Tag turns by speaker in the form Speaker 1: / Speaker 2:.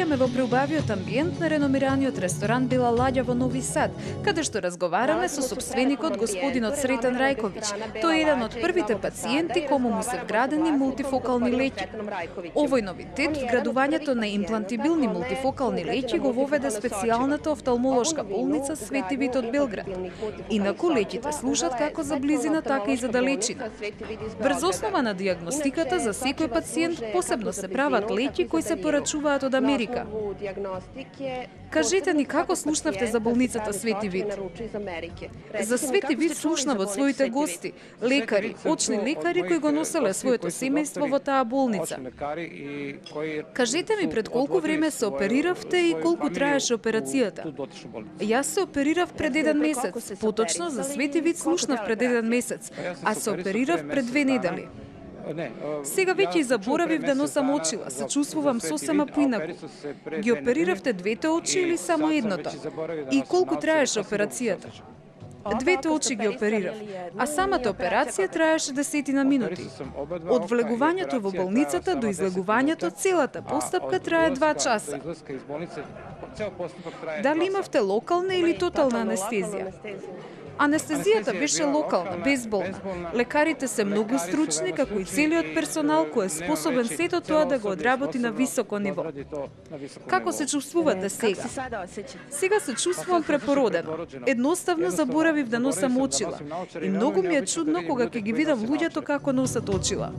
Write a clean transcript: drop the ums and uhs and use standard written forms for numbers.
Speaker 1: наоѓаме во преубавиот амбиент на реномираниот ресторан Бела ладја во Нови Сад, каде што разговараме со сопственикот господинот Сретен Рајковиќ. Тој е еден од првите пациенти кому му се вградени мултифокални леќи. Овој новитет, вградувањето на имплантибилни мултифокални леќи, го воведе специјалната офталмолошка болница Свети Вит од Белград. Инаку леќите служат како за близина, така и за далечина. Врз основа на дијагностиката за секој пациент посебно се прават леќи кои се порачуваат од Америка. Кажете ни како слушнавте за болницата Свети Вит? За Свети Вит слушнав од своите гости, лекари, очни лекари кои го носеле своето семејство во таа болница. Кажете ми пред колку време се опериравте и колку траеше операцијата? Јас се оперирав пред 1 месец, поточно за Свети Вит слушнав пред 1 месец, а се оперирав пред 2 недели. Сега веќе и заборавив да носам очила, се чувствувам сосема поинаку. Ги опериравте двете очи или само едното? И колку траеше операцијата? Двете очи ги оперирав, а самата операција траеше 10 минути. Од влегувањето во болницата до излегувањето, целата постапка трае 2 часа. Дали имавте локална или тотална анестезија? Анестезијата беше локална, безболна. Лекарите се многу стручни, како и целиот персонал кој е способен сето тоа да го одработи на високо ниво. Како се чувствувате сега? Сега се чувствувам препородено. Едноставно заборавив да носам очила. И многу ми е чудно кога ќе ги видам луѓето како носат очила.